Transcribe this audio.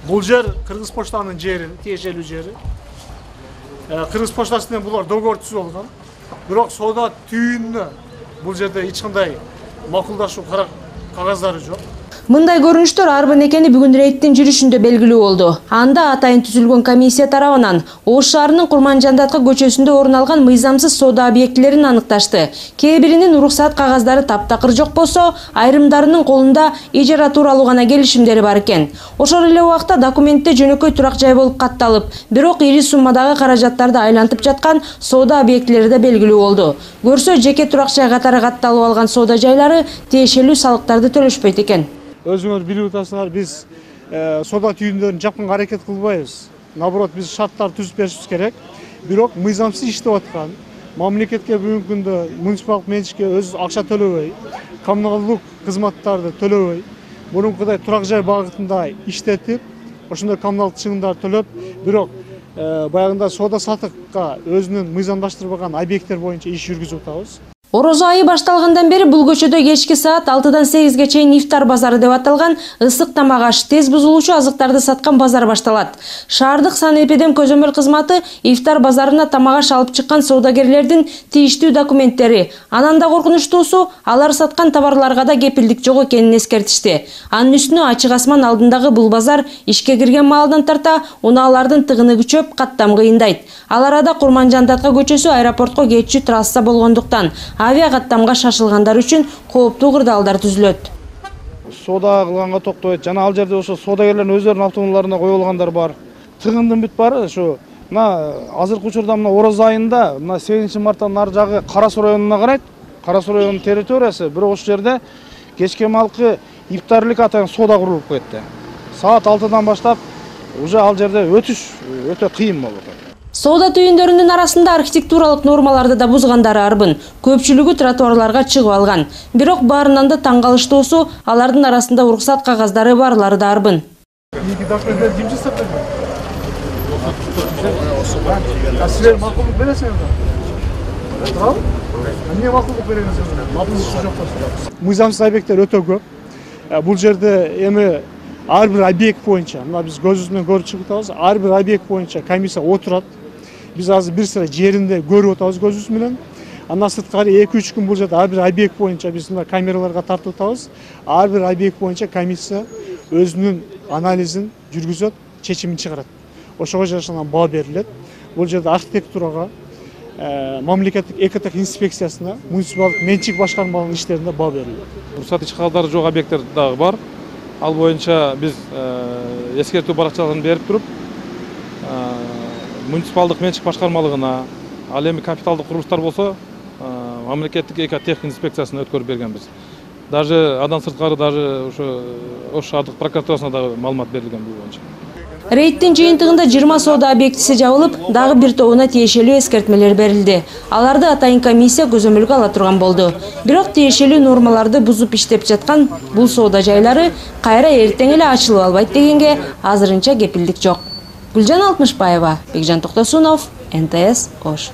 Бул жер Кыргыз поштанын жери, тиешелүү жери. Кыргыз поштасы менен булар договор түзүп алган. Бирок соода түйүнүнө бул жерде эч кандай макулдашуу кагаздары жок. Мындай көрүнүштөр арбын экени бүгүн рейдтин жүрүшүндө белгилүү болду. Анда атайын түзүлгөн комиссия тарабынан Ош шаарынын Курманжандаткы көчөсүндө орун алган мыйзамсыз соода объектилерин аныкташты. Кээ биринин уруксат кагаздары таптакыр жок болсо, айрымдарынын колунда ижара тууралуу гана келишимдери бар экен. Ошол эле убакта документте жөнөкөй турак жай болуп катталып, бирок ири суммадагы каражаттарды айлантып жаткан соода объектилери да белгилүү болду. Көрсө, жеке турак жай катары катталып алган соода жайлары тиешелүү салыктарды төлөшпөйт экен. Өзүңөр билип атасыңар, биз соода түйүндөрүн жапканга аракет кылбайбыз. Наоборот, биз шарттарды түзүп беришибиз керек. Бирок мыйзамсыз иштеп аткан, мамлекетке бүгүнкү күндө муниципалдык менчикке өз акча төлөбөй, коммуналдык кызматтарды төлөбөй, мурункудай турак жай багытында иштетип, ошондой коммуналдык чыгымдарды төлөп, бирок баягында соода сатыкка өзүнүн мыйзамдаштырбаган объекттер боюнча иш жүргүзүп атабыз. Орозо айы башталгандан бери бул көчөдө кечки саат 6-дан 8-ге чейин ифтар базары деп аталган ысык тамак аш, тез бузулуучу азыктарды саткан базар башталат. Шаардык санэпидем көзөмөл кызматы ифтар базарына тамак аш алып чыккан соодагерлердин тийиштүү документтери, анан да коркунучтуусу, алар саткан товарларга да кепилдик жок экенин эскертишти. Анын үстүнө ачык асман алдындагы бул базар ишке кирген маалдан тарта унаалардын тыгыны күчөп, каттам кыйындайт. Ал арада Курманжандаткы көчөсү аэропортко кетчү трасса болгондуктан авиа каттамга шашылгандар үчүн кооптуу кырдаалдар түзүлөт. Соода кылганга токтойт. Жана ал жерде ошо соодагерлердин өздөрүнүн автоунааларына коюлгандар бар. Тыгындын бүт бары ушу мына азыркы учурда мына Орозо айында мына 8-марттан нары жагы Кара Суу районуна карайт. Кара Суу районунун территориясы, бирок ошол жерде кечке малкы ифтарлык атайын соода курулуп кетти. Саат 6-дан баштап уже ал жерде өтүш өтө кыйын болуп атат. Соода түйүндөрүнүн арасында архитектуралык нормаларды да бузгандары арбын. Көпчүлүгү тротуарларга чыгып алган. Бирок баарынан да таң калыштуусу, алардын арасында уруксат кагаздары барлары да арбын. Мыйзамсыз объекттер өтө көп. Бул жерде эми ар бир объект боюнча, мына биз көзүбүз менен көрүп чыгып атабыз, ар бир объект боюнча комиссия отурат. Биз азыр бир sıra жеринде көрүп атабыз көзүбүз менен. Андан сырткары 2-3 күн бул жерде ар бир объект боюнча биз мына камераларга тартып атабыз. Ар бир объект боюнча комиссия өзүнүн анализин жүргүзөт, чечимин чыгарат. Ошого жарашкан баа берилет. Бул жерде архитектурага, мамлекеттик экотех инспекциясына, муниципалдык менчик башкармаларынын иштерине баа берилет. Уруксат иш кагаздары жок объекттер дагы бар. Ал боюнча биз эскертүү баракчаларын берип туруп, муниципалдык менчик башкармалыгына, ал эми капиталдык курулуштар болсо, мамлекеттик экотех инспекциясына өткөрүп бергенбиз. Даже андан сырткары даже ошо Ош шаардык прокуратурасына дагы маалымат берилген бул боюнча. Рейдтин жыйынтыгында 20 соода объектиси жабылып, дагы бир тобуна тиешелүү эскертмелер берилди. Аларды атайын комиссия көзөмөлгө ала турган болду. Бирок тиешелүү нормаларды бузуп иштеп жаткан бул соода жайлары кайра эртең эле ачылып албайт дегенге азырынча кепилдик жок. Гүлжан Алтмышбаева, Бекжан Токтосунов, НТС Ош.